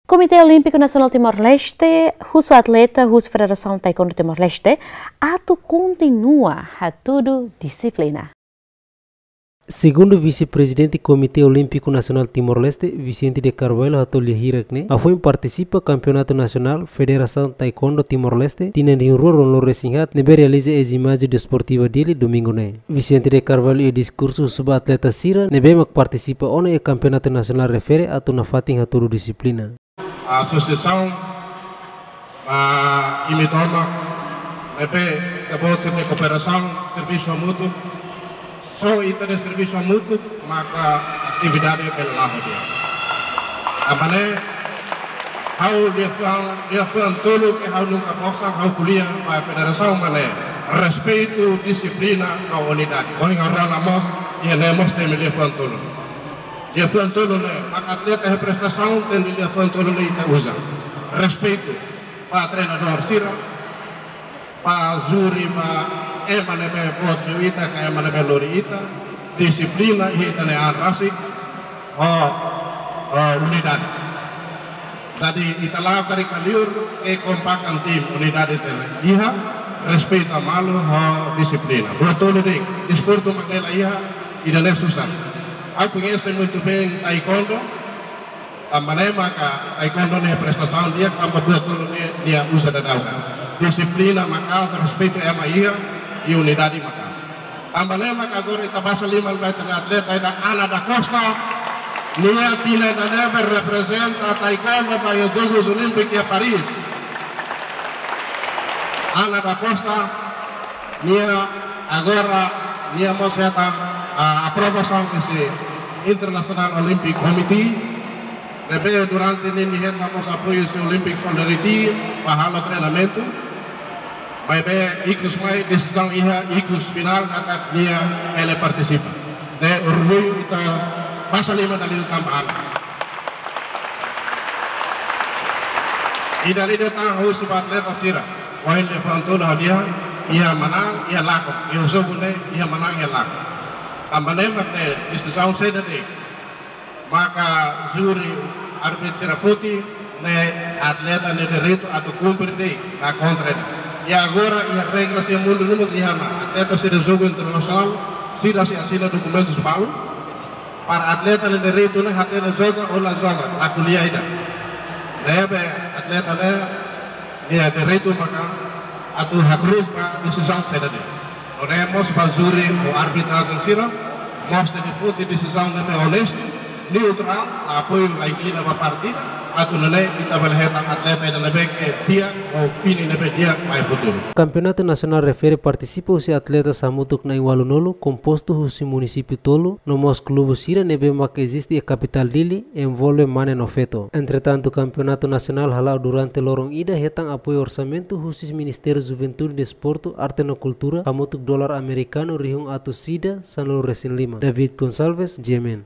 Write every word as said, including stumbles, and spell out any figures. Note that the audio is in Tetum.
Komité Olímpiku Nasionál Timor-Leste husu atleta husi Federasaun Taekwondo Timor-Leste atu kontinua hatudu dixiplina. Segundu Vise-Prezidente Komité Olímpiku Nasionál Timor-Leste, Vicente de Carvalho, hato'o lia hirak ne'e, hafoin partisipa Kampeonatu Nasionál Federasaun Taekwondo Timor-Leste tinan rihun rua ruanulu resin haat ne'ebé realiza iha Jináziu Desportiva Dili, Domingu ne'e. Vicente de Carvalho iha diskursu husu ba atleta sira ne'ebé mak partisipa ona iha Kampeonatu Nasionál refere atu nafatin hatudu dixiplina. Asosiasaun, ah, imi tomak, ne'ebé ita-boot sira-nia kooperasaun, servisu hamutuk, só ita-nia servisu hamutuk maka atividade bele la'o di'ak. Tanba ne'e, ha'u liafuan, liafuan tolu ke ha'u nunka bosan, ha'u ko'alia ba federasaun mak ne'e: respeitu, dixiplina no unidade. Ohin ha'u rona mós, iha ne'e mós temi liafuan tolu. Liafuan tolu ne'e, maka atleta iha prestasaun tenke liafuan tolu ne'e ita uza. Respeitu ba treinadór sira, ba júri, ba ema ne'ebé boot liu ita, ka ema ne'ebé lori ita, dixiplina iha ita-nia an rasik, ho, ho unidade. Jadi, ita la'o karik ka liur, ke kompakan tim, unidade tenke iha, respeitu malu, ho dixiplina. Buat tolu de'it, desportu mak ne'e la iha, ida-ne'e susar. Ha'u koñese muitu bein taekwondo, tanba ne'e maka taekwondo nia prestasaun di'ak, tanba buat tolu ne'e nia uza daudaun. Dixiplina maka'as, respeitu ema iha, i unidade maka'as. Tanba ne'e maka agora ita basa liman ba ita-nia atleta ida, Ana da Costa, nia tinan ida-ne'e reprezenta taekwondo ba iha Jogus Olímpiku iha Paris. Ana da Costa, nia agora, nia mós hetan, ah, aprovasaun husi International Olympic Committee, ne'ebé durante ne'e nia hetan mós apoiu husi Olympic Solidarity ba halo treinamentu. Maibé ikus mai desizaun iha ikus finál katak nia bele partisipa. Ne'e orgullu, ita basa liman dala ida tanba Ana. I dala ida tan husu ba atleta sira. Ohin liafuan tolu hadi'a, iha manán, iha lakon. Iha jogu ne'e, iha manán, iha lakon. Tanba ne'e mak ne'e desizaun saida de'it maka júri, árbitru sira foti, ne'e atleta nia direitu atu kumpre de'it, la kontra de'it. I agora iha regra sira mundu ne'e mós iha mak atleta sira jogu internasionál, sira sei asina dokumentus balu, para atleta nia direitu ne'e hatene joga ou la joga, la ko'alia ida. Ne'ebé atleta ne'e nia direitu maka atu hakru'uk ba desizaun saida de'it. Nune'e mós ba júri ou arbitrajen sira, mós tenke foti desizaun ne'ebé onestu, neutrál, la apoiu, la inklina ba parte ida, atu nune'e ita bele hetan atleta ida ne'ebé ke di'ak ou fini ne'ebé di'ak ba iha futuru. Kampeonatu Nasionál refere partisipa husi atleta hamutuk na'in ualunulu, kompostu husi munisípiu tolu, no mós klube sira ne'ebé mak eziste iha kapitál Dili, envolve mane no feto. Entretantu, Kampeonatu Nasionál hala'o durante loron ida hetan apoiu orsamentu husi Ministériu Juventude, Desportu, Arte no Kultura, hamutuk dolar amerikanu rihun atus ida sanulu resin lima. David Gonçalves, G M N.